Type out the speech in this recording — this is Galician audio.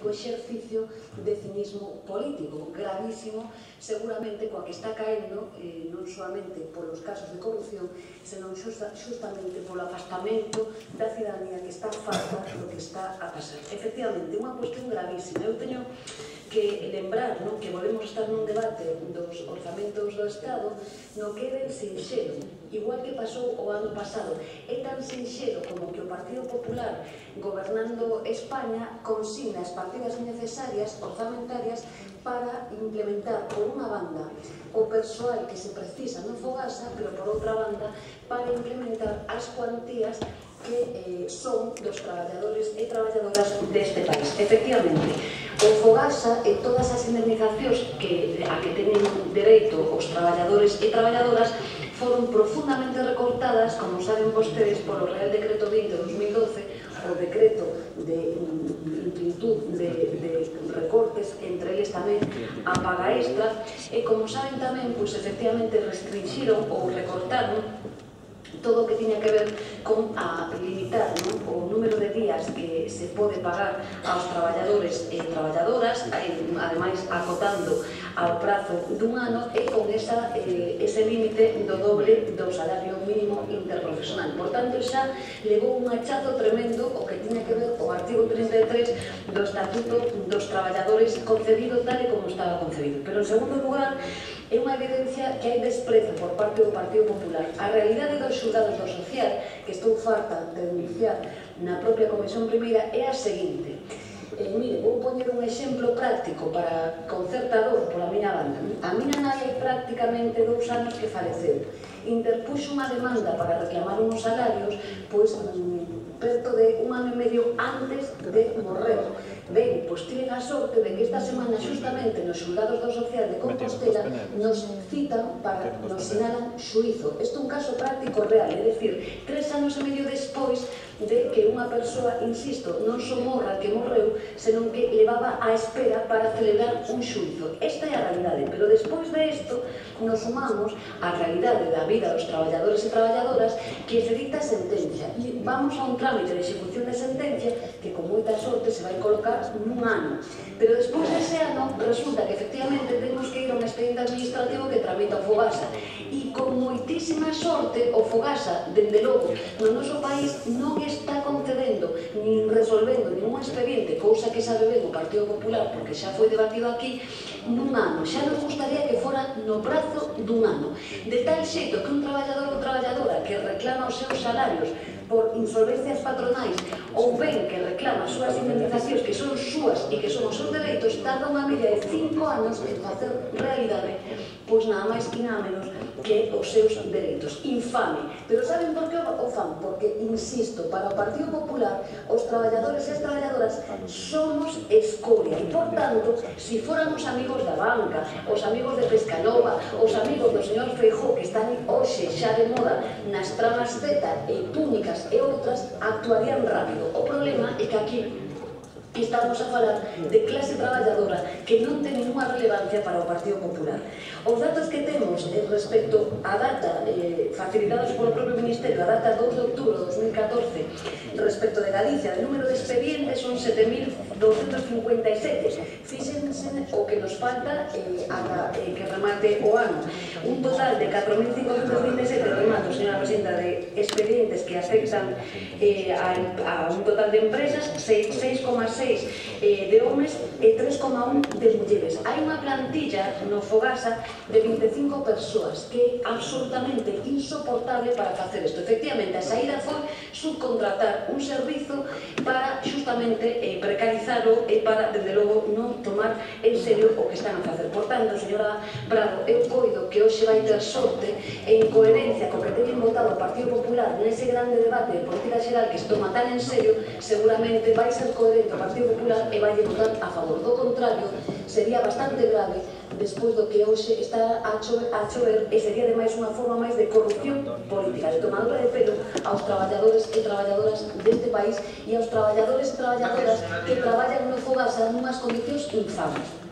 auténtico exercicio de cinismo político, gravísimo, seguramente coa que está caendo non solamente polos casos de corrupción, senón xustamente polo afastamento da cidadanía que está farta do que está a pasar. Efectivamente, unha cuestión gravísima. Eu teño que lembrar que volvemos a estar nun debate dos orzamentos do Estado no que é ben sinxelo, igual que pasou o ano pasado. É tan sinxelo como que o Partido Popular, gobernando España, consigna as partidas necesarias orzamentarias para implementar, por unha banda, o persoal que se precisa no Fogasa, pero por outra banda, para implementar as cuantías que son dos traballadores e traballadoras deste país. Efectivamente, o Fogasa e todas as indemnizacións a que teñen dereito os traballadores e traballadoras foron profundamente recortadas, como saben vostedes, polo Real Decreto 20 de 2012, o decreto de infinitude de recortes, entre eles tamén a paga extra, e como saben tamén, pois efectivamente restringiron ou recortaron todo o que tiña que ver con a limitar o número de días que se pode pagar aos traballadores e traballadoras, ademais acotando ao prazo dun ano e con ese límite do doble do salario mínimo interprofesional. Por tanto, xa levou un hachazo tremendo o que tiña que ver o artigo 33 do Estatuto dos Traballadores concebido tal e como estaba concebido. Pero, en segundo lugar, é unha evidencia que hai desprezo por parte do Partido Popular. A realidade dos xulgados do social, que estou farta de denunciar na propia Comisión Primeira, é a seguinte. Mire, vou poñer un exemplo práctico para concertador pola miña banda. A miña nai hai prácticamente 2 anos que faleceu. Interpuxo unha demanda para reclamar uns salarios, pois, perto de 1 ano e medio antes de morrer. Ben, pois tiven a sorte de que esta semana xustamente nos xulgados do social de Compostela nos citan para nos sinalan xuízo. Isto é un caso práctico real, é dicir, 3 anos e medio despois de que unha persoa, insisto, non só morra que morreu, senón que levaba á espera para celebrar un xuízo. Esta é a realidade, pero despois de isto nos sumamos á realidade da vida dos traballadores e traballadoras que se dicta sentencia. E vamos a un trámite de execución de sentencia que con moita sorte se vai colocar nun ano. Pero despois dese ano resulta que efectivamente temos que ir a un expediente administrativo que tramita o Fogasa. E con moitísima sorte o Fogasa, dende logo, no noso país non está concedendo nin resolvendo ningún expediente, cousa que sabe ben o Partido Popular porque xa foi debatido aquí, nun ano. Xa nos gustaría que fora no prazo dun ano. De tal xeito que un traballador ou traballadora que reclama os seus salarios por insolvencias patronais ou ben que reclama as súas indemnizacións que son súas e que son os seus dereitos, tarda unha media de 5 anos en facer realidade, pois nada máis e nada menos que os seus dereitos. Infame. Pero saben por que o fan? Porque, insisto, para o Partido Popular os traballadores e as traballadoras somos escoria e, por tanto, se fóramos amigos da banca, os amigos de Pescanova, os amigos do señor Feijóo que están hoxe xa de moda nas tramas Z e túnicas e outras, actuarían rápido. O problema é que aquí estamos a falar de clase traballadora que non ten ninguna relevancia para o Partido Popular. Os datos que temos respecto á data facilitados polo propio Ministerio, a data 2 de outubro de 2014, respecto de Galicia, o número de expedientes son 7.257. Fíxense o que nos falta que remate o ano. Un total de 4.527, remate, señora Presidenta, de expedientes que afectan a un total de empresas, 6,6 de homes e 3,1 de mulleres. Hai unha plantilla no Fogasa de 25 persoas que é absolutamente insoportable para facer isto. Efectivamente, a saída foi subcontratar un servizo para justamente precarizarlo e para, desde logo, non tomar en serio o que están a facer. Por tanto, señora Bravo, eu coido que hoxe vai ter sorte en coherencia co que teñen votado o Partido Popular nese grande debate de política xeral que se toma tan en serio, seguramente vai ser coherente o Partido Popular e vai votar a favor. Do contrario, sería bastante grave despois do que hoxe está a chover e sería ademais unha forma máis de corrupción política, de tomadura de pelo aos traballadores e traballadoras deste país e aos traballadores e traballadoras que traballan no Fogasa nunhas condicións infames.